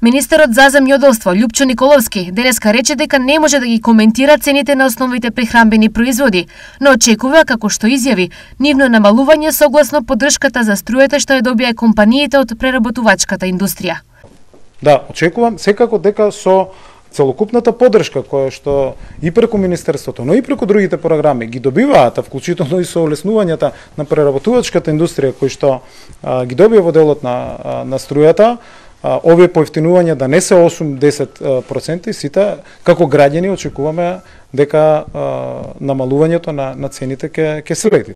Министерот за земјоделство Љупчо Николовски денеска рече дека не може да ги коментира цените на основните прехранбени производи, но очекува, како што изјави, нивно намалување согласно поддршката за струјата што ја добија компаниите од преработувачката индустрија. Да, очекувам секако дека со целокупната поддршка која што и преку Министерството, но и преку другите програми ги добиваат, вклучително и со олеснувањата на преработувачката индустрија кои што ги добија во делот на струјата, овие поевтинувања да не се 8-10% и сите како граѓани очекуваме дека намалувањето на цените ќе следи.